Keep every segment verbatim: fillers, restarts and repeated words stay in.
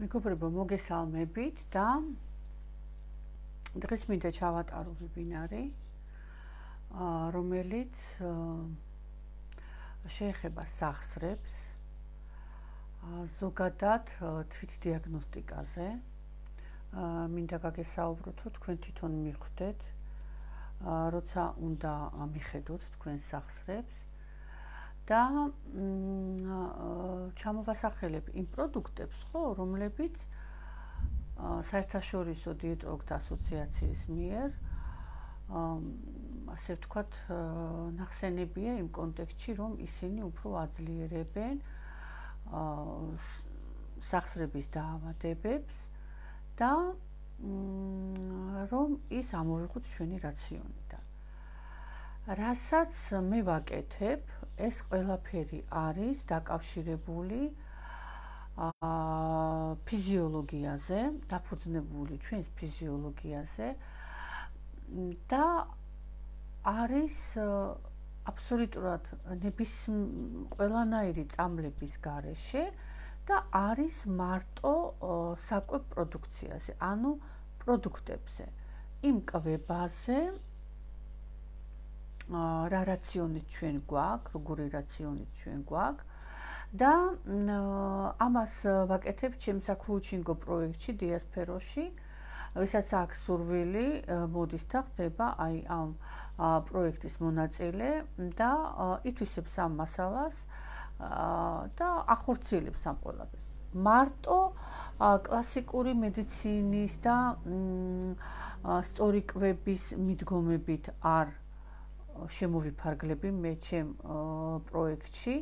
მეგობრებო, მოგესალმებით და დღეს მინდა ჩავატარო ვებინარი, რომელიც შეეხება სახსრებს, ზოგადად თვითდიაგნოსტიკაზე. მინდა გაგესაუბროთ, რომ თქვენ თვითონ მიხვდეთ, როცა უნდა მიხედოთ თქვენ სახსრებს და ჩამოვასახელებ იმ პროდუქტებს, ხო, რომლებიც საერთაშორისო დიეტოლოგთა ასოციაციის მიერ ასე ვთქვათ, ნახსენებია იმ კონტექსტში, რომ ისინი უფრო აძლიერებენ სახსრების დაავადებებს და რომ ის ამოვიღოთ ჩვენი რაციონიდან. რასაც მე ვაკეთებ, ეს ყველაფერი არის დაკავშირებული ფიზიოლოგიაზე, დაფუძნებული ჩვენს ფიზიოლოგიაზე და არის აბსოლუტურად ნების ყველანაირი წამლების გარეშე და არის მარტო საკვებ პროდუქციაზე, ანუ პროდუქტებზე, იმ კვებაზე, რა რაციონით ჩვენ გვაქვს, როგორი რაციონით ჩვენ გვაქვს და ამას ვაკეთებ ჩემს კოუჩინგ პროექტში დიასპეროში, ვისაც აქვს სურვილი, მოდის და ხდება აი ამ პროექტის მონაწილე და ითვისებს ამ მასალას და ახორციელებს ამ ყველაფერს. მარტო კლასიკური მედიცინის და სწორი კვების მიდგომებით არ შემოვიფარგლები მე ჩემ პროექტში.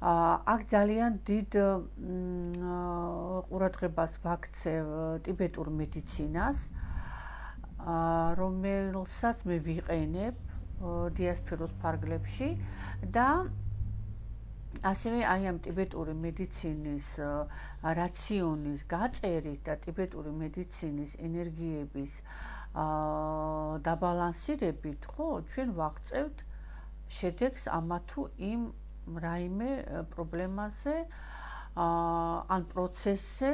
აქ ძალიან დიდ ყურადღებას ვაქცევ ტიბეტურ მედიცინას, რომელსაც მე ვიყენებ დიასპეროს ფარგლებში და ასევე აი ამ ტიბეტური მედიცინის რაციონის გაწერით და ტიბეტური მედიცინის ენერგიების დაბალანსირებით, ხო, ჩვენ ვაღწევთ შედეგს ამა თუ იმ რაიმე პრობლემაზე ან პროცესზე,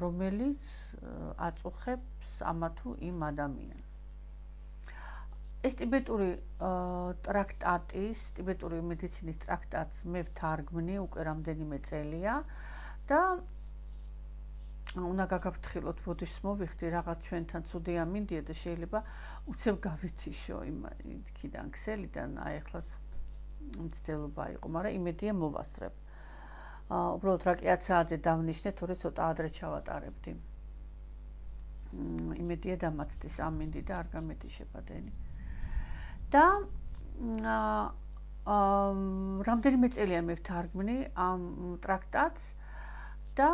რომელიც აწუხებს ამა თუ იმ ადამიანს. ეს ტიბეტური ტრაქტატის, ტიბეტური მედიცინის ტრაქტატს მე ვთარგმნი უკვე რამდენიმე წელია და უნდა გაგაფრთხილოთ, ბოდიშს მოვიხდი, რაღაც ჩვენთან ცუდი ამინდია და შეიძლება უცებ გავიციშო იქიდან ქსელიდან, აი ახლაც მცდელობა იყო, მაგრამ იმედია მოვასწრებ. უბრალოდ რაკიაცაძე დავნიშნე, თორე ცოტა ადრე ჩავატარებდი. იმედია დამაცდის ამინდი და არ გამეთიშება დენი. და რამდენიმე წელია მე ვთარგმნი ამ ტრაქტატს და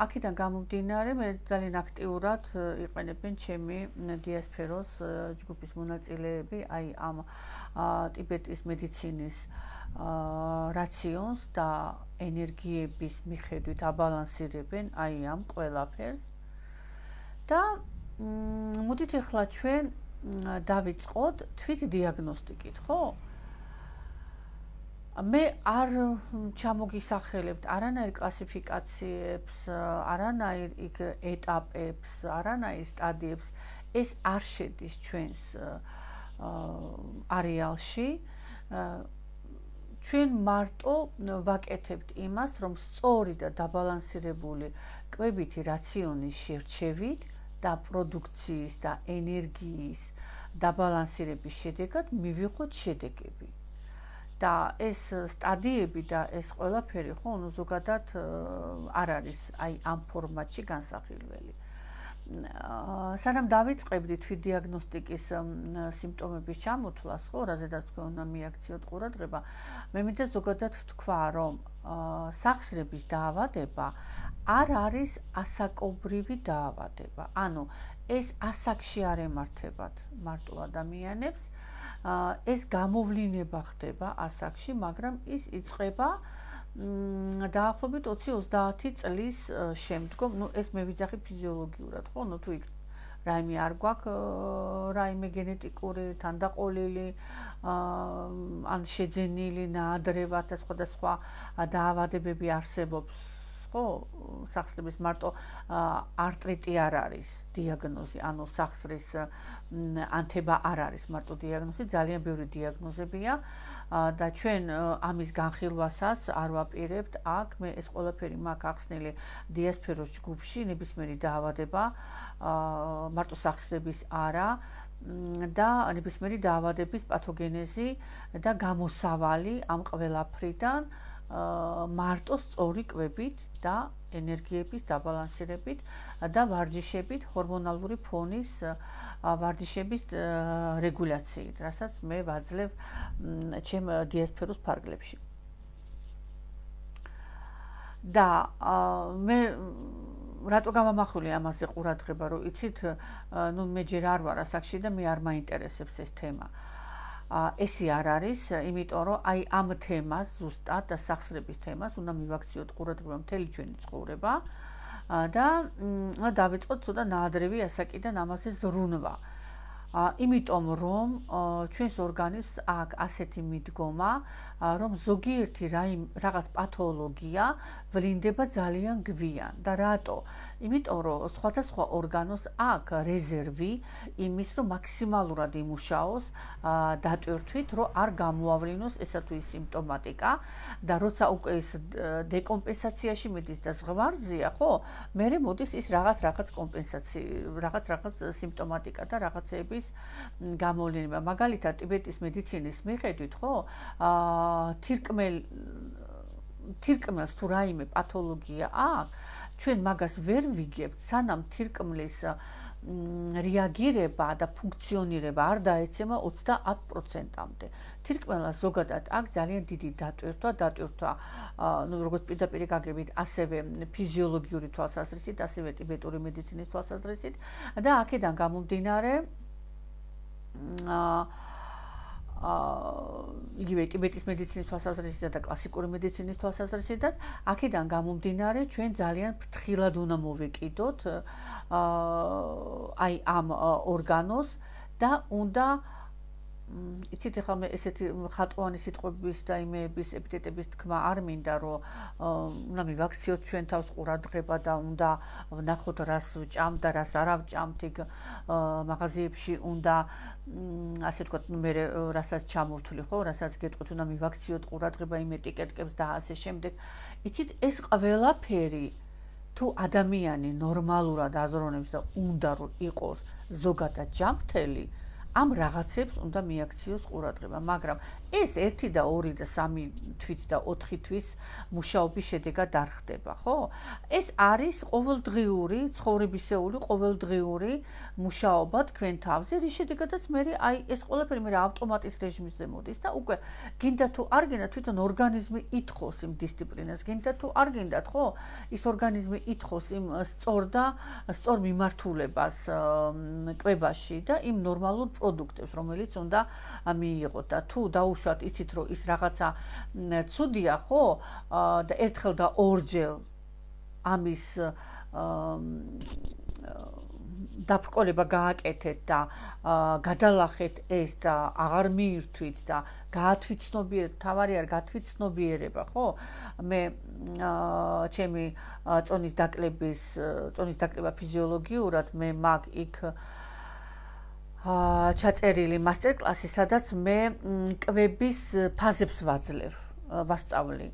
აქედან გამომდინარე მე ძალიან აქტიურად იყენებენ ჩემი დიასპეროს ჯგუფის მონაწილეები აი ამ ტიბეტის მედიცინის რაციონს და ენერგიების მიხედვით აბალანსირებენ აი ამ ყველაფერს და მოდით ახლა ჩვენ დავიწყოთ თვითდიაგნოსტიკით, ხო? მე არ ჩამოგისახელებთ არანაირ კლასიფიკაციებს, არანაირ იქ ეტაპებს, არანაირ სტადიებს, ეს არ შედის ჩვენს არეალში. ჩვენ მარტო ვაკეთებთ იმას, რომ სწორი და დაბალანსირებული კვებითი რაციონის შერჩევით და პროდუქციის და ენერგიის დაბალანსირების შედეგად მივიღოთ შედეგები. და ეს სტადიები და ეს ყველაფერი, ხო, ну ზოგადად არ არის აი ამ ფორმატში განსახილველი. სანამ დავიწყებდი თვითდიაგნოსტიკის სიმპტომების ჩამოთვლას, ხო, რაზედაც თქვენ უნდა მიაქციოთ ყურადღება, მე მინდა ზოგადად ვთქვა, რომ სახსრების დაავადება არ არის ასაკობრივი დაავადება. ანუ ეს ასაკში არ ემართებათ მარტო ადამიანებს, ეს გამოვლინება ხდება ასაკში, მაგრამ ის იწყება დაახლოებით ოცი ოცდაათი წლის შემდგომ, ну ეს მე ვიძახი ფიზიოლოგიურად, ხო, ну თუ იქ რაიმე არ გვაქვს რაიმე გენეტიკური თანდაყოლილი ან შეძენილი ნაადრევად და სხვადასხვა დაავადებები არსებობს, ხო? სახსრების მარტო არტრიტი არ არის დიაგნოზი, ანუ სახსრის ანთება არ არის მარტო დიაგნოზი, ძალიან ბევრი დიაგნოზებია და ჩვენ ამის განხილვასაც არ ვაპირებთ აქ. მე ეს ყველაფერი მაქვს ახსნილი დიასპეროს ჯგუფში, ნებისმიერი დაავადება, მარტო სახსრების არა და ნებისმიერი დაავადების პათოგენეზი და გამოსავალი ამ ყველაფრიდან მარტო სწორი კვებით და ენერგიების დაბალანსირებით და ვარჯიშებით, ჰორმონალური ფონის ვარჯიშების რეგულაციით, რასაც მე ვაძლევ ჩემ დიასპეროს ფარგლებში. და მე რატო გამამახვილე ამაზე ყურადღება, რომ იცით, ნუ მე ჯერ არ ვარ ასაკში და მე არ მაინტერესებს ეს თემა. ესე არ არის, იმიტომ რომ აი ამ თემას, ზუსტად სახსრების თემას უნდა მივაქციოთ ყურადღება მთელი ჩვენი ცხოვრება და დავიწყოთ ცოტა ნაადრევი ასაკიდან ამაზე ზრუნვა. იმიტომ რომ ჩვენს ორგანიზმს აქვს ასეთი მიდგომა, რომ ზოგიერთი რაღაც პათოლოგია ვლინდება ძალიან გვიან. და რატო? იმიტომ რომ სხვადასხვა ორგანოს აქვს რეზერვი იმის, რომ მაქსიმალურად იმუშაოს დატვირთვით, რომ არ გამოავლინოს ესა თუ ის სიმპტომატიკა და როცა უკვე ის დეკომპენსაციაში მიდის და ზღვარზეა, ხო? მერე მოდის ის რაღაც რაღაც კომპენსაცია, რაღაც რაღაც სიმპტომატიკა და რაღაცეების გამოვლინება. მაგალითად, ტიბეტის მედიცინის მიხედვით, ხო? თირკმელ თირკმელს თუ რაიმე პათოლოგია აქვს, ჩვენ მაგას ვერ ვიგებთ, სანამ თირკმლის რეაგირება და ფუნქციონირება არ დაეცემა ოცდაათ პროცენტამდე. თირკმელას ზოგადად აქვს ძალიან დიდი დატვირთვა, დატვირთვა, ну, როგორც პირდაპირ გაგებით, ასევე ფიზიოლოგიური თვალსაზრისით, ასევე ტიბეტური მედიცინის თვალსაზრისით და აქედან გამომდინარე იგივე ტიბეტის მედიცინის თვალსაზრისით და კლასიკური მედიცინის თვალსაზრისით, აქედან გამომდინარე ჩვენ ძალიან ფრთხილად უნდა მოვეკიდოთ აი ამ ორგანოს და უნდა იცით, ახლა მე ესეთი ხატოვანი სიტყვების და იმეების ეპითეტების თქმა არ მინდა, რომ უნდა მივაქციოთ ჩვენ თავს ყურადღება და უნდა ვნახოთ რას ვჭამთ და რას არ ვჭამთ, იქ მაღაზიებში უნდა ასე ვთქვათ, მე რასაც ჩამოვთვლი, ხო, რასაც გეტყვით, უნდა მივაქციოთ ყურადღება იმ ეტიკეტკებს და ასე შემდეგ. იცით, ეს ყველაფერი თუ ადამიანი ნორმალურად აზროვნებს და უნდა რომ იყოს ზოგადად ჯანმრთელი, ამ რაღაცებს უნდა მიაქციოს ყურადღება, მაგრამ ეს ერთი და ორი და სამი თვით და ოთხი თვის მუშაობის შედეგად არ ხდება, ხო? ეს არის ყოველდღიური, ცხოვრებისეული ყოველდღიური მუშაობა თქვენ თავზე, რის შედეგადაც მე აი ეს ყველაფერი მე ავტომატის რეჟიმზე მოდის და უკვე გინდა თუ არ გინდა თვითონ ორგანიზმი ითხოვს იმ დისციპლინას, გინდა თუ არ გინდათ, ხო? ის ორგანიზმი ითხოვს იმ სწორ და სწორ მიმართულებას კვებაში და იმ ნორმალურ პროდუქტებს, რომელიც უნდა მიიღოთ და თუ დაუშვათ იცით, რომ ის რაღაცა ცუდია, ხო? და ერთხელ და ორჯერ ამის დაბრკოლება გააკეთეთ და გადალახეთ ეს და აღარ მიირთვით და გაათვიცნობიერეთ, თავარი არ გათვიცნობიერება, ხო? მე ჩემი წონის დაკლების, წონის დაკლება ფიზიოლოგიურად მე მაგ იქ ჩაწერილი მასტერკლასი, სადაც მე კვების ფაზებს ვაძლევ, ვასწავლი.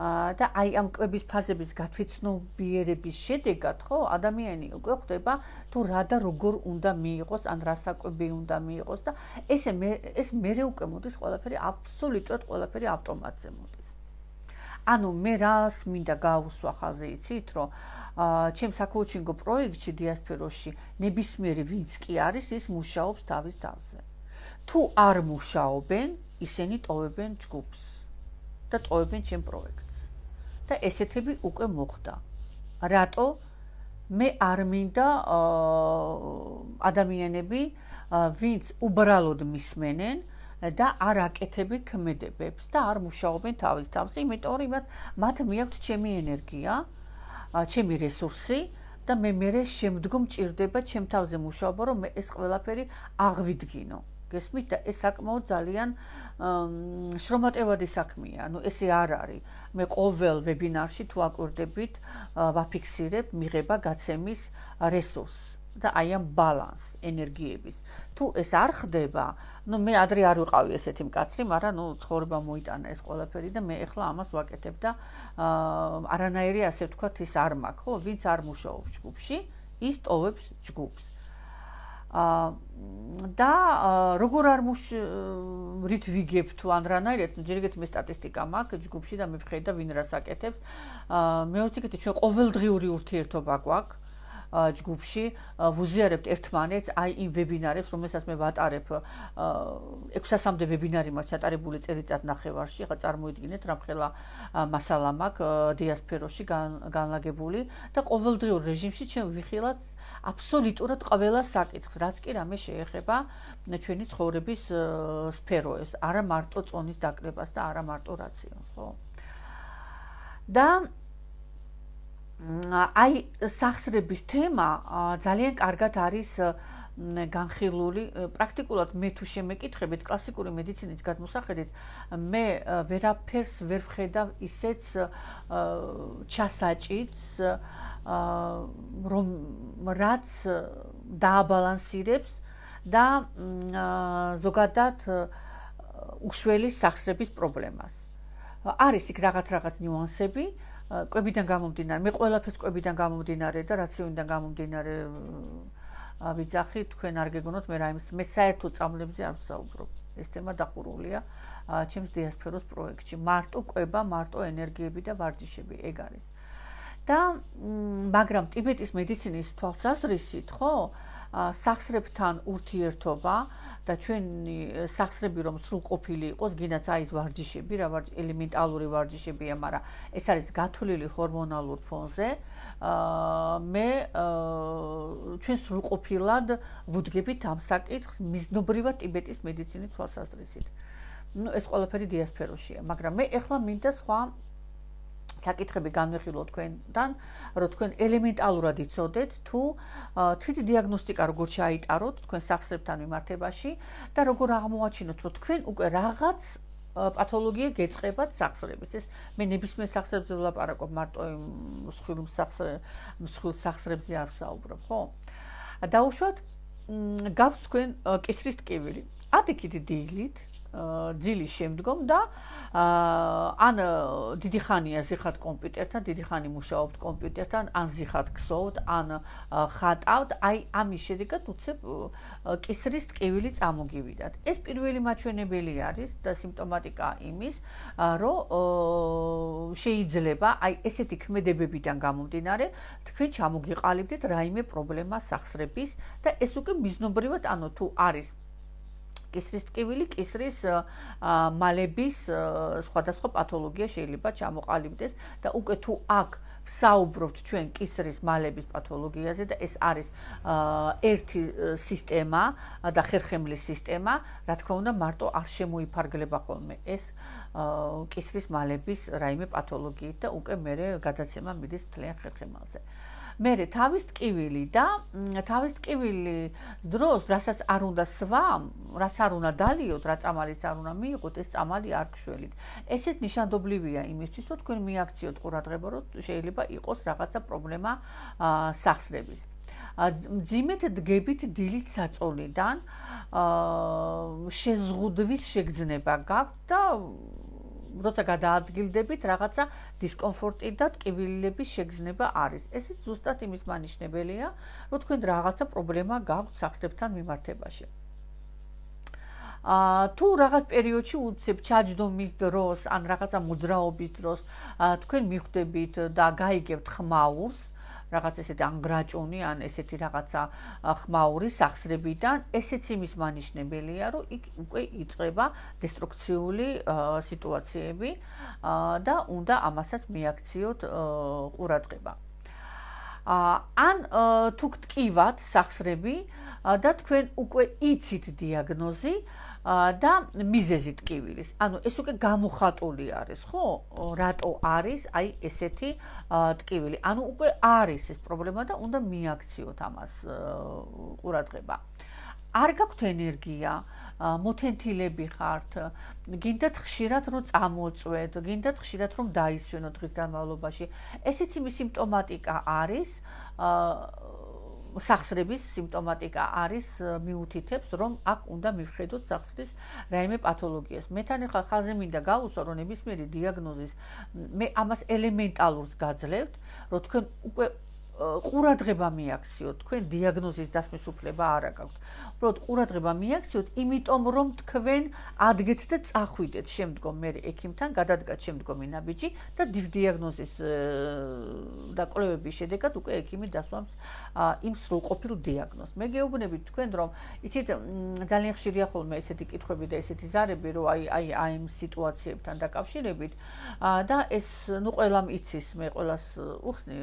და აი ამ კვების ფაზების გათვიცნობიერების შედეგად, ხო, ადამიანი უკვე ხვდება თუ რა და როგორ უნდა მიიღოს, ან რა საკვები უნდა მიიღოს და ესე მე ეს მერე უკვე მოდის ყველაფერი აბსოლუტურად ყველაფერი ავტომატზე მოდის. ანუ მე რას მინდა გავუსვა ხაზი, იცით, რომ ჩემ საკოუჩინგო პროექტში დიასპეროში ნებისმიერი ვინც კი არის, ის მუშაობს თავის თავზე. თუ არ მუშაობენ, ისინი ტოვებენ ჯგუფს და ტოვებენ ჩემ პროექტს. და ესეთები უკვე მოხდა. რატო? მე არ მინდა ადამიანები, ვინც უბრალოდ მისმენენ და არ აკეთებენ ქმედებებს და არ მუშაობენ თავის თავზე, იმიტომ რომ მათ მიაქვთ ჩემი ენერგია, ჩემი რესურსი და მე მერე შემდგომ ჭირდება ჩემ თავზე მუშაობა, რომ მე ეს ყველაფერი აღვიდგინო. გესმით და ეს საკმაოდ ძალიან შრომატევადი საქმეა. ანუ ესე არ არის. მე ყოველ ვებინარში თუ აკვირდებით, ვაფიქსირებ მიღება გაცემის რესურსს და აი ამ ბალანს ენერგიების. თუ ეს არ ხდება, ну მე ადრე არ ვიყავი ესეთი მკაცრი, მაგრამ ну ცხოვრება მოიტანა ეს ყველაფერი და მე ახლა ამას ვაკეთებ და არანაირი ასე ვთქვათ ის არ მაქვს, ხო? ვინც არ მუშაობს ჯგუფში, ის ტოვებს ჯგუფს. და როგორ არ რით ვიგებ თუ ან რანაირად, ჯერ ეგეთი მე სტატისტიკა მაქვს ჯგუფში და მე ვხედავ და ვინ რას აკეთებს. მეორე ეგეთი ჩვენ ყოველდღიური ურთიერთობა გვაქვს. ჯგუფში ვუზიარებთ ერთმანეთს აი იმ ვებინარებს, რომელსაც მე ვატარებ ექვსასამდე ვებინარი მაქვს ჩატარებული წელიწად ნახევარში, ხა წარმოიდგინეთ რამხელა მასალა მაქვს დიასპეროში განლაგებული და ყოველდღიურ რეჟიმში ჩვენ ვიხილავთ აბსოლუტურად ყველა საკითხს, რაც კი რამე შეეხება ჩვენი ცხოვრების სფეროებს, არა მარტო წონის დაკრებას და არა მარტო რაციონს, ხო? და აი სახსრების თემა ძალიან კარგად არის განხილული. პრაქტიკულად მე თუ შემეკითხებით კლასიკური მედიცინის გადმოსახედით, მე ვერაფერს ვერ ვხედავ ისეც ჩასაჭიც, რომ რაც დააბალანსირებს და ზოგადად უშველის სახსრების პრობლემას. არის იქ რაღაც რაღაც ნიუანსები, კვებიდან გამომდინარე, მე ყველაფერს კვებიდან გამომდინარე და რაციონიდან გამომდინარე ვიძახი, თქვენ არ გეგონოთ, მე რაიმეს მე საერთოდ წამლებზე არ ვსაუბრობ. ეს თემა დახურულია ჩემს დიასპეროს პროექტში. მარტო კვება, მარტო ენერგიები და ვარჯიშები, ეგ არის. და მაგრამ ტიბეტის მედიცინის თვალსაზრისით, ხო, სახსრებთან ურთიერთობა და ჩვენი სახსრები რომ სრულყოფილი იყოს, გინდათ აი ეს ვარჯიშები, რა ვარჯი ელემენტალური ვარჯიშებია, მაგრამ ეს არის გათვლილი ჰორმონალურ ფონზე. მე ჩვენ სრულყოფილად ვუდგებით ამ საკითხს მიზნობრივად ტიბეტის მედიცინის თვალსაზრისით. ნუ ეს ყველაფერი დიასპეროშია, მაგრამ მე ახლა მინდა სხვა საკითხები განვიხილოთ თქვენთან, რომ თქვენ ელემენტალურად იცოდეთ თუ თვითდიაგნოსტიკა როგორ ჩაიტაროთ თქვენ სახსრებთან მიმართებაში და როგორ აღმოაჩინოთ, რომ თქვენ უკვე რაღაც პათოლოგია გეწყებათ სახსრების. ეს მე ნებისმიერ სახსრებზე ვლაპარაკობ, მარტო მსხვილ მსხვილ სახსრებზე არ ვსაუბრობ, ხო? დაუშვათ გაქვს თქვენ კისრის ტკივილი. ადიქით დილით ძილის შემდგომ და ან დიდი ხანია ზიხართ კომპიუტერთან, დიდი ხანი მუშაობთ კომპიუტერთან, ან ზიხართ ქსოვთ, ან ხატავთ, აი ამის შედეგად უცებ კისრის ტკივილი წამოგივიდათ. ეს პირველი მაჩვენებელი არის და სიმპტომატიკა იმის, რომ შეიძლება აი ესეთი ქმედებებიდან გამომდინარე თქვენ ჩამოგიყალიბდეთ რაიმე პრობლემა სახსრების და ეს უკვე მიზნობრივად, ანუ თუ არის კისრის ტკივილი, კისრის მალების სხვადასხვა პათოლოგია შეიძლება ჩამოყალიბდეს და უკვე თუ აქ ვსაუბრობთ ჩვენ კისრის მალების პათოლოგიაზე და ეს არის ერთი სისტემა და ხერხემლის სისტემა, რა თქმა უნდა, მარტო არ შემოიფარგლება ხოლმე ეს კისრის მალების რაიმე პათოლოგიით და უკვე მერე გადაცემა მიდის მთლიან ხერხემალზე. მერე თავის ტკივილი და თავის ტკივილი დროს, რასაც არ უნდა სვამ, რაც არ უნდა დალიოთ, რა წამალიც არ უნდა მიიღოთ, ეს წამალი არ გშველით. ესეც ნიშანდობლივია იმისთვის, რომ თქვენ მიაქციოთ ყურადღება, რომ შეიძლება იყოს რაღაცა პრობლემა სახსრების. მძიმედ დგებით დილით საწოლიდან, შეზღუდვის შეგრძნება გაქვთ და როცა გადაადგილდებით, რაღაცა დისკომფორტი და ტკივილების შეგრძნება არის. ესეც ზუსტად იმის მანიშნებელია, რომ თქვენ რაღაცა პრობლემა გაქვთ სახსრებთან მიმართებაში. თუ რაღაც პერიოდში უცებ ჩაჯდომის დროს, ან რაღაცა მოძრაობის დროს თქვენ მიხვდებით და გაიგებთ ხმაურს, რაღაც ესეთი ან გრაჭუნი, ან ესეთი რაღაცა ხმაური სახსრებიდან, ესეც იმის მანიშნებელია, რომ იქ უკვე იწყება დესტრუქციული სიტუაციები და უნდა ამასაც მიაქციოთ ყურადღება. ან თუ გტკივათ სახსრები და თქვენ უკვე იცით დიაგნოზი და მიზეზი ტკივილის. ანუ ეს უკვე გამოხატული არის, ხო? რატო არის აი ესეთი ტკივილი. ანუ უკვე არის ეს პრობლემა და უნდა მიაქციოთ ამას ყურადღება. არ გაქვთ ენერგია, მოთენთილები ხართ, გინდათ ხშირად რომ წამოწვეთ, გინდათ ხშირად რომ დაისვენოთ დღის განმავლობაში. ესეც იმის სიმპტომატიკა არის, სახსრების სიმპტომატიკა არის მიუთითებს, რომ აქ უნდა მივხედოთ სახსრის რაიმე პათოლოგიას. მე თან ახლა ხალხზე მინდა გავუსვა, რომ ნებისმიერი დიაგნოზის მე ამას ელემენტალურს გაძლევთ, რომ თქვენ უკვე ყურადღება მიაქციოთ, თქვენ დიაგნოზის დასმის უფლება არ აქვს. უბრალოდ ყურადღება მიაქციოთ, იმიტომ რომ თქვენ ადგეთ და წახვიდეთ შემდგომ მე ექიმთან, გადადგათ შემდგომი ნაბიჯი და დიაგნოზის და კვლევების შედეგად უკვე ექიმი დასვამს იმ სრულყოფილ დიაგნოზს. მე გეუბნებით თქვენ, რომ იცით ძალიან ხშირია ხოლმე ესეთი კითხვები და ესეთი ზარები, რომ აი აი აი იმ სიტუაციებთან დაკავშირებით და ეს ნუ ყველამ იცის, მე ყველას უხსნი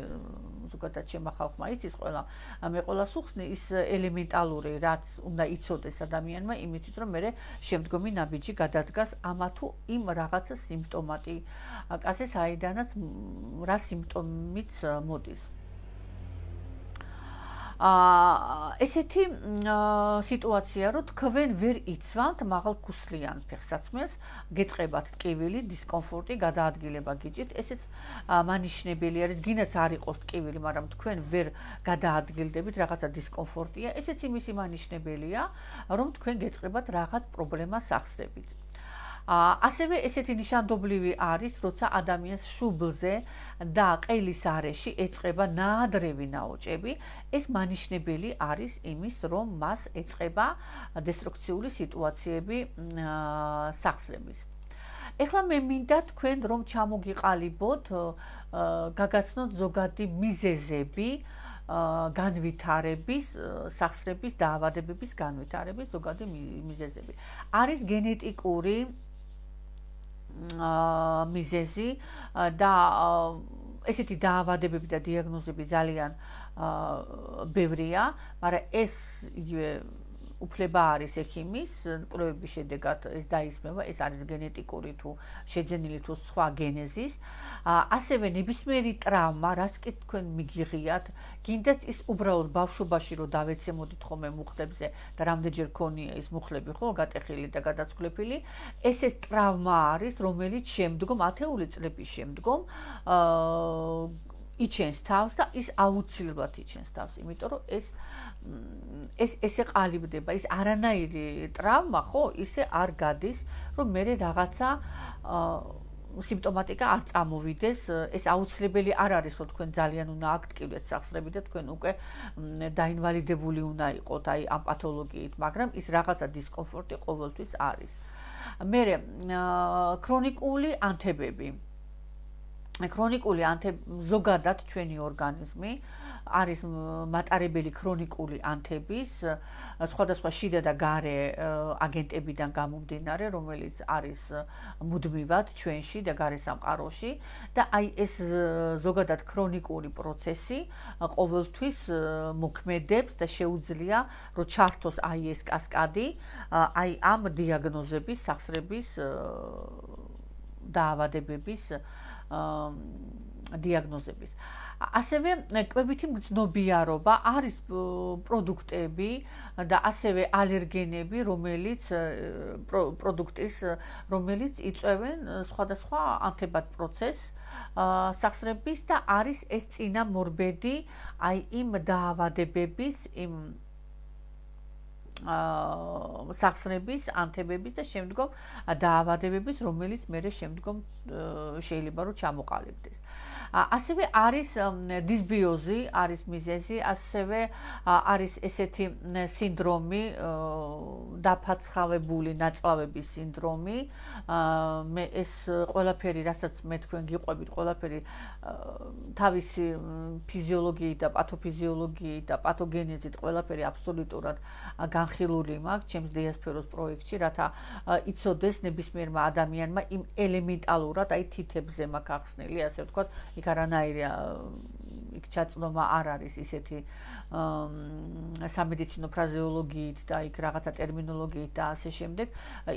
ზოგადად ჩემმა ხალხმა იცის ყველა, მე ყველას უხსნი ის ელემენტალური რაც უნდა იცოდეს ადამიანმა იმისთვის რომ მე შემდგომი ნაბიჯი გადადგას ამა თუ იმ რაღაცა სიმპტომატიკაზე საიდანაც რა სიმპტომით მოდის. აა ესეთი სიტუაცია რომ თქვენ ვერ იცვამთ მაღალქუსლიან ფეხსაცმელს, გეწყებათ ტკივილი, დისკომფორტი, გადაადგილება გიჭირთ, ესეც მანიშნებელი არის, გინდაც არ იყოს ტკივილი, მაგრამ თქვენ ვერ გადაადგილდებით, რაღაცა დისკომფორტია, ესეც იმისი მანიშნებელია, რომ თქვენ გეწყებათ რაღაც პრობლემა სახსრებით. ასევე ესეთი ნიშანდობლივი არის, როცა ადამიანს შუბლზე და ყელის არეში ეწყება ნაადრევი ნაოჭები, ეს მანიშნებელი არის იმის, რომ მას ეწყება დესტრუქციული სიტუაციები სახსრების. ეხლა მე მინდა თქვენ რომ ჩამოგიყალიბოთ, გაგაცნოთ ზოგადი მიზეზები განვითარების, სახსრების დაავადებების განვითარების ზოგადი მიზეზები. არის გენეტიკური მიზეზი და ესეთი დაავადებები და დიაგნოზები ძალიან ბევრია, მაგრამ ეს უფლება არის ექიმის, კვლევების შედეგად ეს დაისმება, ეს არის გენეტიკური თუ შეძენილი თუ სხვა გენეზის. ასევე ნებისმიერი ტრავმა, რაც კი თქვენ მიგიღიათ, გინდათ ის უბრალოდ ბავშვობაში რომ დავეცემოდით ხოლმე მუხლებზე და რამდენჯერ ქონია ის მუხლები ხო გატეხილი და გადაცვლებული, ეს ეს ტრავმა არის, რომელიც შემდგომ ათეული წლების შემდგომ იჩენს თავს და ის აუცილებლად იჩენს თავს, იმიტომ რომ ეს ეს ესე ყალიბდება, ის არანაირი ტრავმა ხო ისე არ გადის, რომ მე რაღაცა სიმპტომატიკა არ წამოვიდეს, ეს აუცილებელი არ არის, რომ თქვენ ძალიან უნდა აქტიურეთ სახსრები და თქვენ უკვე დაინვალიდებული უნდა იყოთ აი ამ პათოლოგიით, მაგრამ ის რაღაცა დისკომფორტი ყოველთვის არის. მე ქრონიკული ანთებები. ქრონიკული ანთები ზოგადად ჩვენი ორგანიზმი არის მატარებელი ქრონიკული ანთების სხვადასხვა შიდა და გარე აგენტებიდან გამომდინარე, რომელიც არის მუდმივად ჩვენში და გარე სამყაროში და აი ეს ზოგადად ქრონიკული პროცესი ყოველთვის მოქმედებს და შეუძლია რომ ჩართოს აი ეს კასკადი აი ამ დიაგნოზების, სახსრების დაავადებების დიაგნოზების. ასევე კვებითი მგრძნობიარობა არის პროდუქტები და ასევე ალერგენები, რომელიც პროდუქტის, რომელიც იწვევენ სხვადასხვა ანთებად პროცესს სახსრების და არის ეს წინამორბედი აი იმ დაავადებების, იმ სახსრების, ანთებების და შემდგომ დაავადებების, რომელიც მერე შემდგომ შეიძლება რომ ჩამოყალიბდეს. ასევე არის დისბიოზი, არის მიზეზი, ასევე არის ესეთი სინდრომი, დაფაცხავებული ნაწლავების სინდრომი. მე ეს ყველაფერი, რასაც მე თქვენ გიყვებით, ყველაფერი თავისი ფიზიოლოგიით და პათოფიზიოლოგიით და პათოგენეზით ყველაფერი აბსოლუტურად განხილული მაქვს ჩემს დიასფეროს პროექტში, რათა იცოდეს ნებისმიერმა ადამიანმა იმ ელემენტალურად, აი თითებზე მაქვს ახსნილი, ასე ვთქვათ, იქ არანაირი იქ ჩაწვდომა არ არის ისეთი სამედიცინო ფრაზეოლოგიით და იქ რაღაცა ტერმინოლოგიით და ასე შემდეგ,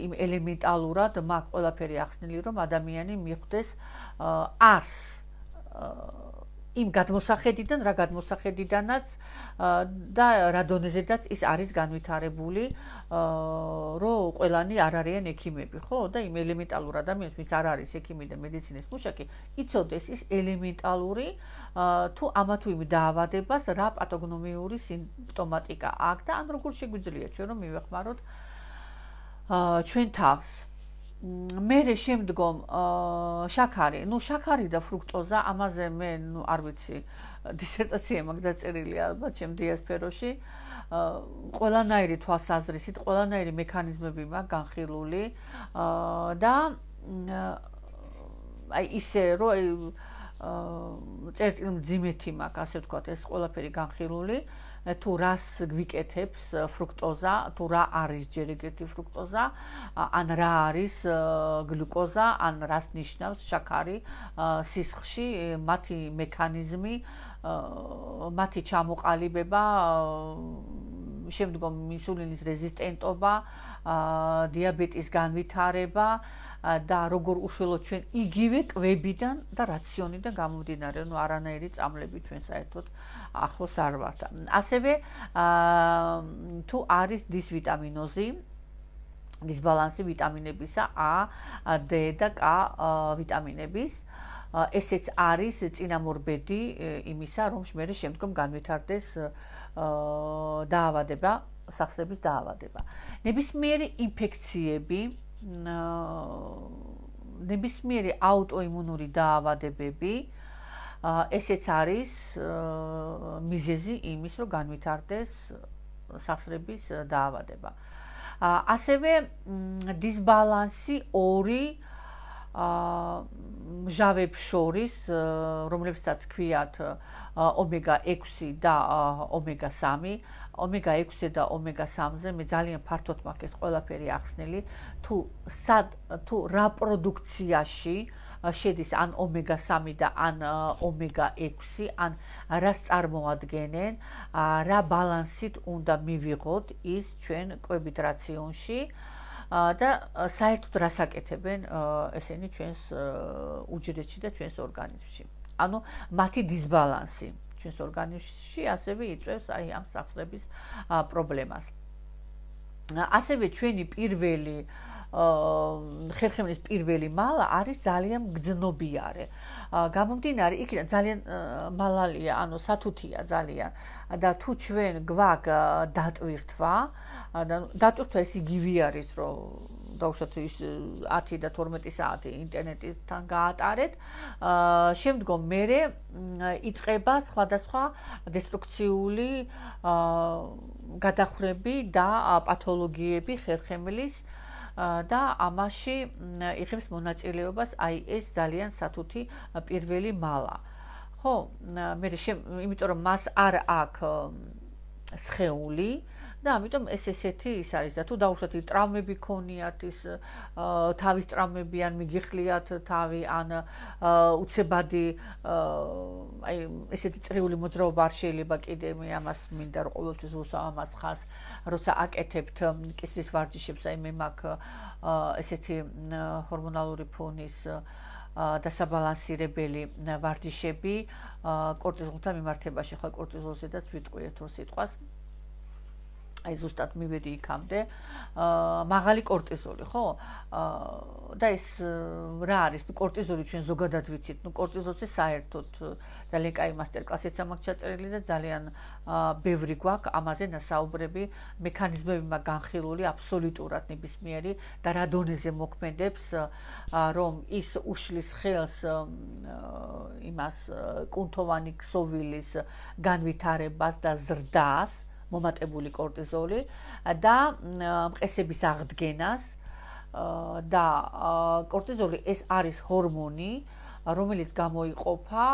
იმ ელემენტალურად მაქვს ყველაფერი ახსნილი, რომ ადამიანი მიხვდეს არს იმ გადმოსახედიდან, რა გადმოსახედიდანაც და რა დონეზედაც ის არის განვითარებული, რომ ყველანი არ არიან ექიმები, ხო? და იმ ელემენტალურ ადამიანს, ვინც არ არის ექიმი და მედიცინის მუშაკი, იცოდეს ის ელემენტალური თუ ამა თუ იმ დაავადებას რა პათოგნომიური სიმპტომატიკა აქვს და ან როგორ შეგვიძლია ჩვენ რომ მივეხმაროთ ჩვენ თავს. მერე შემდგომ შაქარი, ну შაქარი და ფრუქტოზა, ამაზე მე ну არ ვიცი, დისერტაცია მაქვს დაწერილი ალბათ ჩემ დიასფეროში. ყველანაირი თვალსაზრისით, ყველანაირი მექანიზმები მაქვს განხილული და აი ისე რომ წერტილი მძიმეთი მაქვს, ასე ვთქვათ, ეს ყველაფერი განხილული. თუ რას გვიკეთებს ფრუქტოზა, თუ რა არის ჯერ ეგრეთი ფრუქტოზა, ან რა არის გლუკოზა, ან რას ნიშნავს შაქარი სისხლში, მათი მექანიზმი, მათი ჩამოყალიბება, შემდგომ ინსულინის რეზისტენტობა, დიაბეტის განვითარება და როგორ უშუალოდ ჩვენ იგივე კვებიდან და რაციონიდან გამომდინარე, ну არანაირი წამლები ჩვენ საერთოდ ახლოს არ ვართ. ასევე თუ არის დისვიტამინოზი, დისბალანსი ვიტამინებისა A, D და K ვიტამინების, ესეც არის წინამორბედი იმისა, რომ მე შემდგომ განვითარდეს დაავადება, სახსრების დაავადება. ნებისმიერი ინფექციები, ნებისმიერი აუტოიმუნური დაავადებები, ესეც არის მიზეზი იმის, რომ განვითარდეს სახსრების დაავადება. ასევე დისბალანსი ორი მჟავებს შორის, რომლებსაც ქვიათ ომეგა ექვსი და ომეგა სამი, ომეგა ექვსი და ომეგა სამზე მე ძალიან ფართოდ მაქვს ეს ყველაფერი ახსნილი, თუ სად თუ რა პროდუქციაში შედის ან ომეგა სამი და ან ომეგა ექვსი, ან რას წარმოადგენენ, რა ბალანსით უნდა მივიღოთ ის ჩვენ კვებით რაციონში და საერთოდ რას აკეთებენ ესენი ჩვენს უჯრედში და ჩვენს ორგანიზმში. ანუ მათი დისბალანსი ჩვენს ორგანიზმში ასევე იწვევს აი ამ სახსრების პრობლემას. ასევე ჩვენი პირველი ხერხემლის პირველი მალა არის ძალიან გრძნობიარე. გამომდინარე, იქიდან ძალიან მალალია, ანუ სათუთია ძალიან და თუ ჩვენ გვაქვს დატვირთვა, დატვირთვა ეს იგივე არის, რომ დაუშვათ ის ათი და თორმეტი საათი ინტერნეტთან გაატარეთ, შემდგომ მერე იწყება სხვადასხვა დესტრუქციული გადახრები და პათოლოგიები ხერხემლის და ამაში იღებს მონაწილეობას აი ეს ძალიან სათუთი პირველი მალა. ხო, მე იმიტომ რომ მას არ აქვს სხეული და ამიტომ ეს ესეთი ის არის და თუ დაუშვათ ტრავმები ქონიათ, ის თავის ტრავმები ან მიგიხლიათ თავი ან უცებადი აი ესეთი წრიული მოძრაობა არ შეიძლება კიდე მე ამას მინდა რომ ყოველთვის ვუსვამ ამას ხაზს, როცა აკეთებთ კისრის ვარჯიშებს, აი მე მაქვს ესეთი ჰორმონალური ფონის დასაბალანსირებელი ვარჯიშები კორტიზოლთან მიმართებაში, ხო კორტიზოლზედაც ვიტყვიეთ ორ სიტყვას. აი ზუსტად მივედი იქამდე, მაღალი კორტიზოლი, ხო? და ეს რა არის? კორტიზოლი ჩვენ ზოგადად ვიცით, ну კორტიზოლზე საერთოდ ძალიან კაი მასტერკლასიც მაქვს ჩაწერილი და ძალიან ბევრი გვაქვს ამაზე ნასაუბრები, მექანიზმები მაქვს განხილული აბსოლუტურად ნებისმიერი და რა დონეზე მოქმედებს, რომ ის უშლის ხელს იმას კუნთოვანი ქსოვილის განვითარებას და ზრდას, მომატებული კორტიზოლი და მყესების აღდგენას და კორტიზოლი ეს არის ჰორმონი, რომელიც გამოიყოფა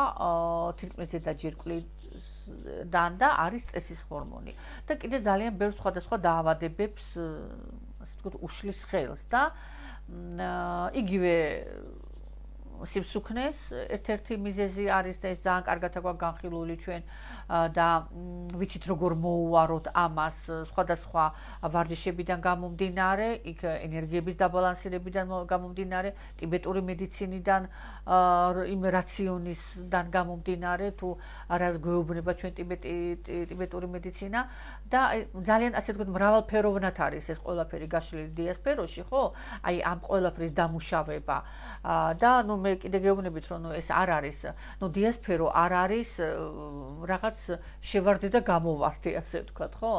თირკმლის ზედაჯირკვლიდან და არის სტრესის ჰორმონი. და კიდე ძალიან ბევრ სხვადასხვა დაავადებებს, ასე ვთქვათ, უშლის ხელს და იგივე სიმსუქნეს ერთ-ერთი მიზეზი არის და ეს ძალიან კარგად აქვს განხილული ჩვენ და ვიცით როგორ მოუვაროთ ამას სხვადასხვა ვარჯიშებიდან გამომდინარე, იქ ენერგიების დაბალანსირებიდან გამომდინარე, ტიბეტური მედიცინიდან, იმ რაციონისგან გამომდინარე, თუ არას გვეუბნება ჩვენ ტიბეტური მედიცინა და ძალიან ასე ვთქვათ მრავალფეროვნად არის ეს ყველაფერი გაშლილი დიასპეროში, ხო? აი ამ ყველაფრის დამუშავება და ნუ მე კიდე გეუბნებით რომ ნუ ეს არ არის, ნუ დიასპერო არ არის რაღაც შევარდე და გამოვარდე ასე ვთქვათ, ხო?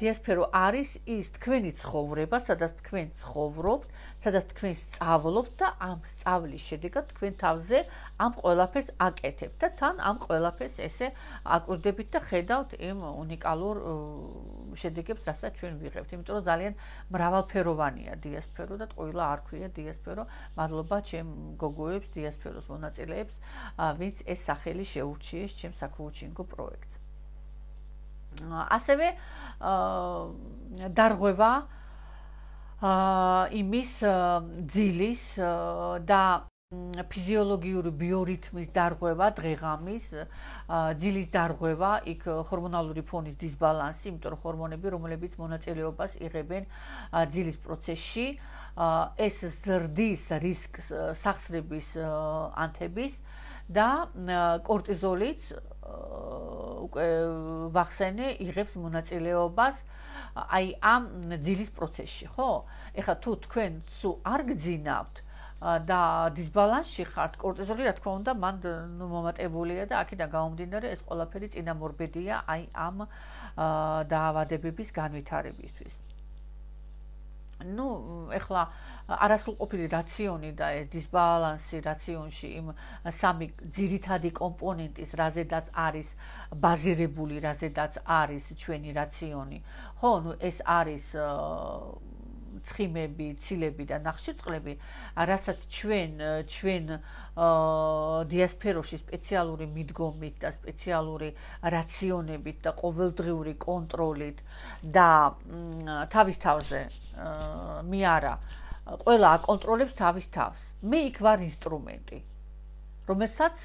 დიასპერო არის ის თქვენი ცხოვრება, სადაც თქვენ ცხოვრობთ, სადაც თქვენ სწავლობთ და ამ სწავლის შედეგად თქვენ თავზე ამ ყველაფერს აკეთებთ და თან ამ ყველაფერს ესე აკვირდებით და ხედავთ იმ უნიკალურ შედეგებს, რასაც ჩვენ ვიღებთ. იმიტომ რომ ძალიან მრავალფეროვანია დიასპერო და ყველა არ ქვია დიასპერო. მადლობა ჩემ გოგოებს, დიასპეროს მონაწილეებს, ვინც ეს სახელი შეურჩიეს ჩემ საქოუჩინგო პროექტს. ასევე დარღვევა იმის ძილის და ფიზიოლოგიური ბიორითმის დარღვევა, დღეღამის ძილის დარღვევა, იქ ჰორმონალური ფონის დისბალანსი, იმიტომ რომ ჰორმონები, რომლებიც მონაწილეობას იღებენ ძილის პროცესში, ეს ზრდის რისკს სახსრების ანთების და კორტიზოლიც უკვე ვახსენე იღებს მონაწილეობას აი ამ ძილის პროცესში, ხო? ეხლა თუ თქვენ სულ არ გძინავთ და დისბალანსში ხართ, კორტიზოლი რა თქმა უნდა მან ნუ მომატებულია და აქედან გამომდინარე ეს ყველაფერი წინამორბედია აი ამ დაავადებების განვითარებისთვის. ნუ ეხლა არასრულყოფილი რაციონი და ეს დისბალანსი რაციონში იმ სამი ძირითადი კომპონენტის, რაზედაც არის ბაზირებული, რაზედაც არის ჩვენი რაციონი. ხო, ნუ ეს არის ცხიმები, ცილები და ნახშირწყლები, რასაც ჩვენ ჩვენ დიასპეროში სპეციალური მიდგომით და სპეციალური რაციონებით და ყოველდღიური კონტროლით და თავის თავზე მე არა ყველა აკონტროლებს თავის თავს. მე იქ ვარ ინსტრუმენტი, რომელსაც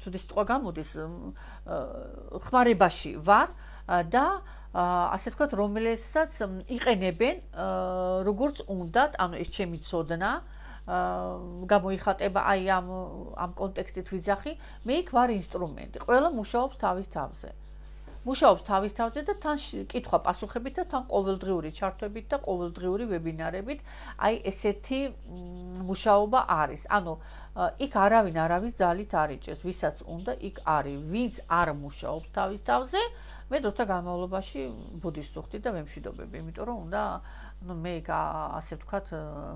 ცუდი სიტყვა გამოდის, ხმარებაში ვარ და ასე ვთქვათ, რომელსაც იყენებენ როგორც უნდათ, ანუ ეს ჩემი ცოდნა გამოიხატება აი ამ ამ კონტექსტით ვიძახი, მე იქ ვარ ინსტრუმენტი, ყველა მუშაობს თავის თავზე. მუშაობს თავის თავზე და თან კითხვა პასუხებით და თან ყოველდღიური ჩართვებით და ყოველდღიური ვებინარებით, აი ესეთი მუშაობა არის. ანუ იქ არავინ არავის ძალით არ იჭერს, ვისაც უნდა იქ არის, ვინც არ მუშაობს თავის თავზე, მე დროთა განმავლობაში ბუდის ვუხდი და მემშვიდობები, იმიტომ რომ უნდა ну მე ასე ვთქვათ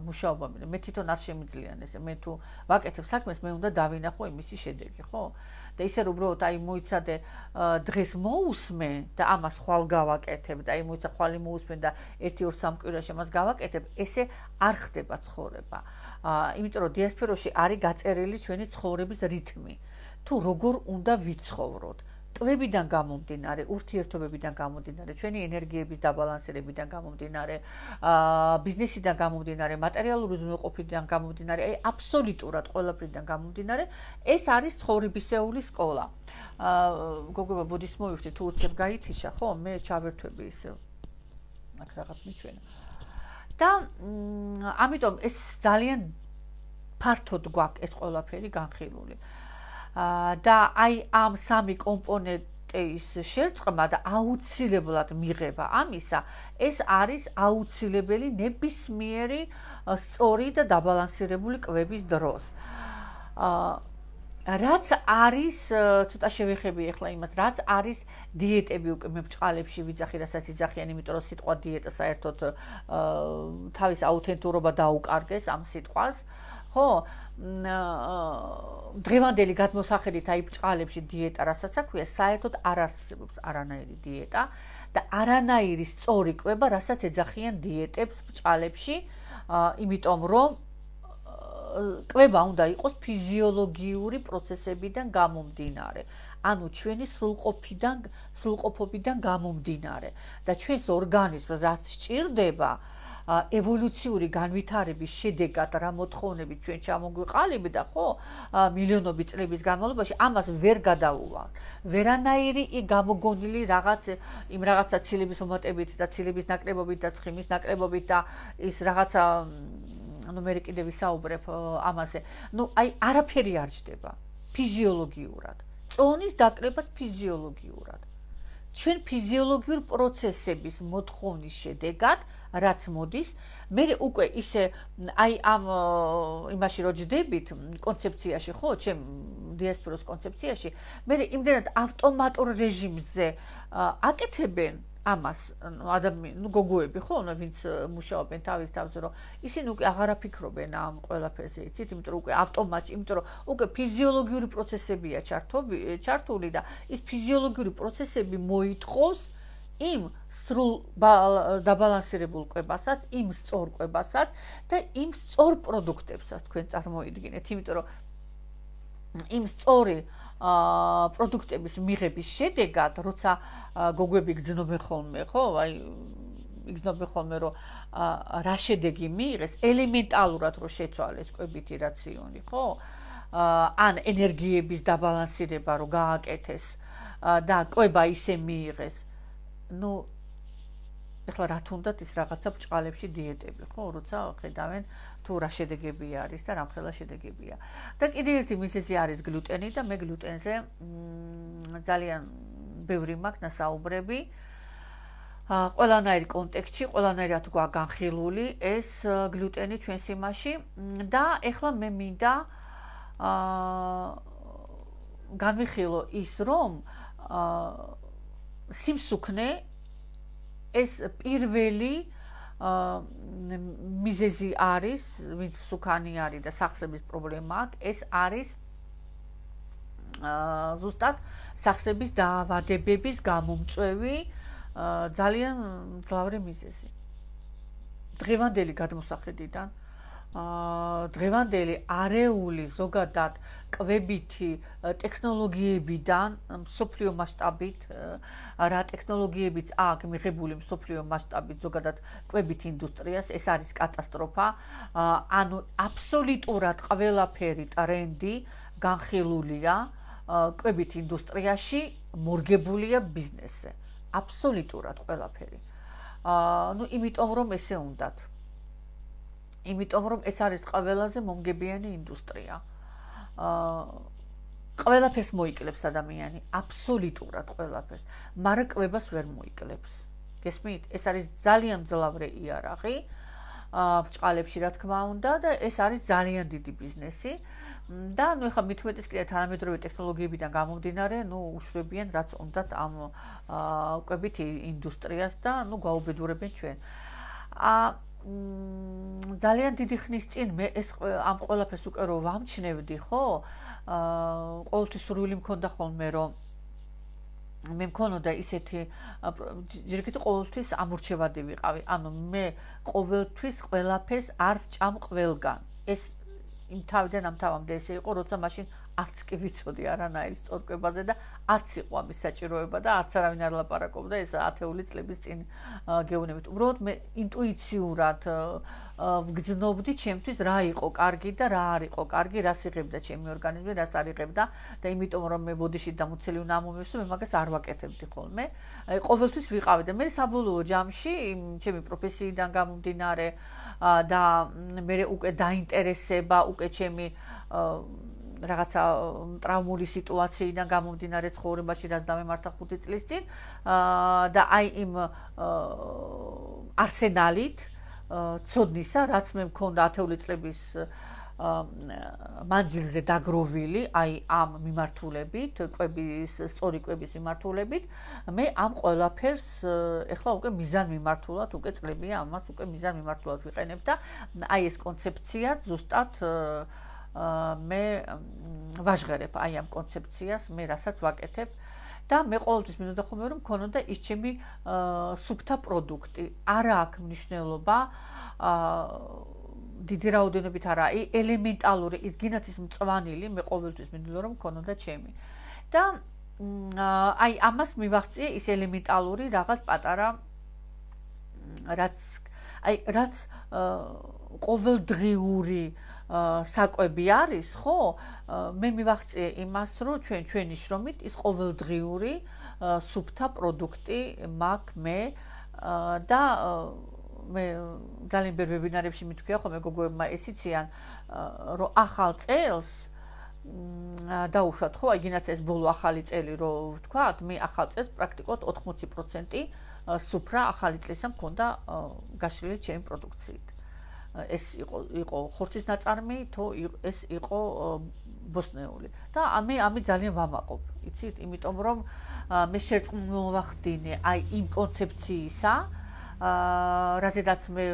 მუშაობა მე თვითონ არ შემიძლიან ესე მე თუ ვაკეთებ საქმეს მე უნდა დავინახო იმისი შედეგი ხო და ისე რომ უბრალოდ აი მოიცადე დღეს მოусმე და ამას ხვალ გავაკეთებ და აი მოიცა ხვალი მოусმე და ერთი ორ სამ კვირაში ამას გავაკეთებ ესე არ ხდება ცხოვრება იმიტომ რომ დიასპეროში არის გაწერილი ჩვენი ცხოვრების რითმი თუ როგორ უნდა ვიცხოვროთ ტვებიდან გამომდინარე, ურთიერთობებიდან გამომდინარე, ჩვენი ენერგიების დაბალანსირებიდან გამომდინარე, ბიზნესიდან გამომდინარე, მატერიალური უზრუნველყოფიდან გამომდინარე, აი აბსოლუტურად ყველაფრიდან გამომდინარე, ეს არის ცხოვრებისეული სკოლა. გოგოა ბუდის მოვიხდი, თუ უცებ გაითიშა, ხო, მე ჩავერთვები ისე. აქ რაღაც მიჩვენა. და ამიტომ ეს ძალიან ფართოდ გვაქვს ეს ყველაფერი განხილული. და აი ამ სამი კომპონენტის შერწყმა და აუცილებლად მიღება ამისა, ეს არის აუცილებელი ნებისმიერი სწორი და დაბალანსირებული კვების დროს. რაც არის, ცოტა შევეხები ახლა იმას, რაც არის დიეტები უკვე მე ბჭყალებში ვიძახი, რასაც იძახიან, იმიტომ რომ სიტყვა დიეტა საერთოდ თავის აუთენტურობა დაუკარგეს ამ სიტყვას, ხო? დღევანდელი გადმოსახედით აი ბჭყალებში დიეტა რასაც აქვია, საერთოდ არ არსებობს არანაირი დიეტა და არანაირი სწორი კვება, რასაც ეძახიან დიეტებს ბჭყალებში, იმიტომ რომ კვება უნდა იყოს ფიზიოლოგიური პროცესებიდან გამომდინარე, ანუ ჩვენი სრულყოფიდან, სრულყოფობიდან გამომდინარე და ჩვენს ორგანიზმს რაც სჭირდება ევოლუციური განვითარების შედეგად რა მოთხოვნებით ჩვენ ჩამოგვიყალიბდა, ხო, მილიონობით წლების განმავლობაში ამას ვერ გადაუვალ. ვერანაირი გამოგონილი რაღაც იმ რაღაცა ცილების მომატებით და ცილების ნაკლებობით და ცხიმის ნაკლებობით და ის რაღაცა ანუ მე კიდევ ვისაუბრებ ამაზე. ნუ აი არაფერი არ ჯდება ფიზიოლოგიურად. წონის დაკრებაც ფიზიოლოგიურად. ჩვენ ფიზიოლოგიურ პროცესების მოთხოვნის შედეგად, რაც მოდის, მე უკვე ისე აი ამ იმაში რო ჯდებით კონცეფციაში, ხო, ჩემ დიასპოროს კონცეფციაში, მე იმდენად ავტომატურ რეჟიმზე აკეთებენ ამას ადამიანი, ნუ გოგოები, ხო, ვინც მუშაობენ თავის თავზე, რომ ისინი უკვე აღარ აფიქრობენ ამ ყველაფერზე, იცით, იმიტომ რომ უკვე ავტომატში, იმიტომ რომ უკვე ფიზიოლოგიური პროცესებია ჩართული და ის ფიზიოლოგიური პროცესები მოითხოვს იმ სრულ დაბალანსირებულ კვებასაც, იმ სწორ კვებასაც და იმ სწორ პროდუქტებსაც თქვენ წარმოიდგინეთ, იმიტომ რომ იმ სწორი პროდუქტების მიღების შედეგად, როცა გოგოები გძნობენ ხოლმე, ხო, აი იგრძნობენ ხოლმე, რომ რა შედეგი მიიღეს, ელემენტალურად რო შეცვალეს კვებითი რაციონი, ხო? ან ენერგიების დაბალანსირება რო გააკეთეს და კვება ისე მიიღეს. ნუ ეხლა რა თუნდაც ის რაღაცა ბჭყალებში დიეტები, ხო, როცა ხედავენ თუ რა შედეგები არის და რამხელა შედეგებია. და კიდევ ერთი მიზეზი არის გლუტენი და მე გლუტენზე ძალიან ბევრი მაქვს ნასაუბრები. ყველანაირ კონტექსტში, ყველანაირად გვაქვს განხილული ეს გლუტენი ჩვენს იმაში და ეხლა მე მინდა განვიხილო ის, რომ სიმსუქნე ეს პირველი მიზეზი არის, ვინც მსუქანი არის და სახსრების პრობლემა აქვს, ეს არის ზუსტად სახსრების დაავადებების გამომწვევი ძალიან მძლავრი მიზეზი. დღევანდელი გადმოსახედიდან დღევანდელი არეული ზოგადად კვებითი ტექნოლოგიებიდან მსოფლიო მასშტაბით რა ტექნოლოგიებიც აქვს მიღებული მსოფლიო მასშტაბით ზოგადად კვებითი ინდუსტრიას ეს არის კატასტროფა. ანუ აბსოლუტურად ყველაფერი ტრენდი განხილულია კვებითი ინდუსტრიაში, მორგებულია ბიზნესზე. აბსოლუტურად ყველაფერი. ну იმიტომ რომ ესე უნდათ. იმიტომ რომ ეს არის ყველაზე მომგებიანი ინდუსტრია. ყველაფერს მოიკლებს ადამიანი, აბსოლუტურად ყველაფერს, მაგრამ კვებას ვერ მოიკლებს. გესმით? ეს არის ძალიან მძლავრი იარაღი ბჭყალებში რა თქმა უნდა და ეს არის ძალიან დიდი ბიზნესი. და ნუ ეხლა მით უმეტეს კიდე თანამედროვე ტექნოლოგიებიდან გამომდინარე, ნუ უშვებიან რაც უნდათ ამ კვებითი ინდუსტრიას და ნუ გვაუბედურებენ ჩვენ. ა ძალიან დიდი ხნის წინ მე ეს ამ ყველაფერს უკვე რო ვამჩნევდი, ხო? აა ყოველთვის სურვილი მქონდა ხოლმე რომ მე მქონოდა ისეთი ჯერკეთი ყოველთვის ამორჩევადი ვიყავი. ანუ მე ყოველთვის ყველაფერს არ ვჭამ ყველგან. ეს იმ თავიდან ამ თავამდე ესე იყო, როცა მაშინ არც კი ვიცოდი არანაირ სწორკვებაზე და არც იყო ამის საჭიროება და არც არავინ არ ლაპარაკობდა ეს ათეული წლების წინ გეუბნებით. უბრალოდ მე ინტუიციურად ვგრძნობდი ჩემთვის რა იყო კარგი და რა არ იყო კარგი, რას იღებდა ჩემი ორგანიზმი, რას არ იღებდა და იმიტომ რომ მე ბოდიში დამუცელი უნდა მომივსო, მე მაგას არ ვაკეთებდი ხოლმე. აი ყოველთვის ვიყავი და მე საბოლოო ჯამში ჩემი პროფესიიდან გამომდინარე და მე უკვე დაინტერესება უკვე ჩემი რაღაცა ტრავმული სიტუაციიდან გამომდინარე ცხოვრებაში რაც დამემართა ხუთი წლის წინ და აი იმ არსენალით ცოდნისა რაც მე მქონდა ათეული წლების მანძილზე დაგროვილი აი ამ მიმართულებით კვების სწორი კვების მიმართულებით მე ამ ყველაფერს ეხლა უკვე მიზან მიმართულად უკვე წლებია ამას უკვე მიზან მიმართულად ვიყენებ და აი ეს კონცეფცია ზუსტად მე ვაჟღერებ აი ამ კონცეფციას მე რასაც ვაკეთებ და მე ყოველთვის მინდოდა ხოლმე რომ მქონოდა ის ჩემი სუფთა პროდუქტი არა აქვს მნიშვნელობა დიდი რაოდენობით არა ელემენტალური ის გინათ ის მწვანილი მე ყოველთვის მინდოდა რომ მქონოდა ჩემი და აი ამას მივაღწიე ის ელემენტალური რაღაც პატარა რაც აი რაც ყოველდღიური საკვები არის, ხო? მე მივახციე იმას, რომ ჩვენ ჩვენი შრომით ის ყოველდღიური სუფთა პროდუქტი მაქვს მე და მე ძალიან ბევრ ვებინარებში მithქვია ხოლმე გოგოებმა ეს იციან, რომ ახალ წელს დაუშვათ, ხო, იგინაც ეს ბოლო ახალი წელი რო ვთქვათ, მე ახალ წელს პრაქტიკულად ოთხმოცი პროცენტი სუფრა ახალი წლისა მქონდა გაშლილი ჩემი პროდუქციით. ეს იყო იყო ხორცის ნაწარმი, თუ ეს იყო ბოსტნეული. და ამი ამი ძალიან ვამაყობ, იცით, იმიტომ რომ მე შერწყმოვახდინე აი იმ კონცეფციისა, რაზედაც მე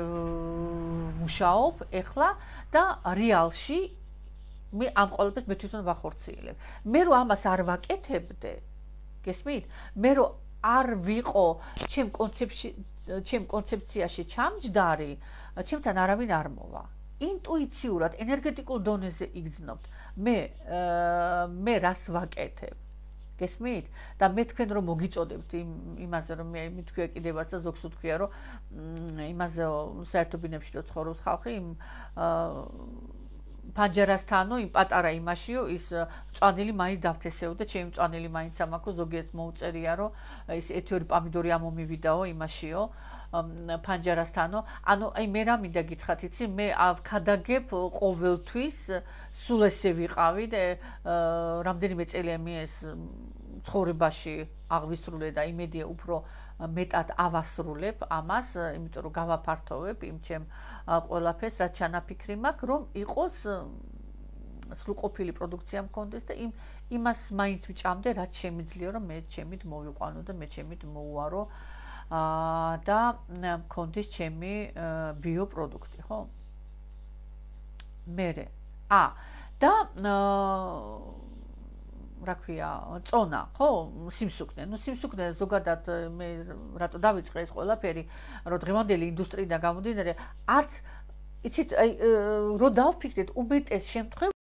მუშაობ ეხლა და რეალში მე ამ ყოველთვის მე თვითონ ვახორციელებ. მე რო ამას არ ვაკეთებდე, გესმით? მე რო არ ვიყო ჩემ კონცეფციაში, ჩემ კონცეფციაში ჩამჯდარი, ჩემთან არავინ არ მოვა. ინტუიციურად, ენერგეტიკულ დონეზე იგრძნობთ. მე მე რას ვაკეთებ? გესმით? და მე თქვენ რომ მოგიწოდებთ იმაზე რომ მე მithქვია კიდევაც და ზოგს ვთქვია რომ იმაზე საერთო ბინებში რო ცხოვრობს ხალხი იმ პანჯერასთანო იმ პატარა იმაშიო ის მწვანილი მაინც დავთესეოდა, ჩემი მწვანილი მაინც ამაქვს, ზოგიერთს მოუწერია რომ ის ერთი ორი პამიდორი ამომივიდაო იმაშიო პანჯერასთანო. ანუ აი მე რა მინდა გითხრათ, იცი, მე ავქადაგებ ყოველთვის სულ ესე ვიყავი და რამდენიმე წელია მე ეს ცხოვრებაში აღვისრულე და იმედია უფრო მეტად ავასრულებ ამას, იმიტომ რომ გავაფართოვებ იმ ჩემ ყველაფერს, რაც ჩანაფიქრი მაქვს, რომ იყოს სრულყოფილი პროდუქცია მქონდეს და იმ იმას მაინც ვიჭამდე, რაც შემიძლია რომ მე ჩემით მოვიყვანო და მე ჩემით მოუარო და მქონდეს ჩემი ბიოპროდუქტი, ხო? მერე ა და რა ქვია, წონა, ხო? სიმსუქნე. ნუ სიმსუქნე ზოგადად მე რატო დავიწყე ეს ყველაფერი, რომ დღევანდელი ინდუსტრიიდან გამომდინარე, არც იცით, აი, რო დავფიქრეთ, უმეტეს შემთხვევაში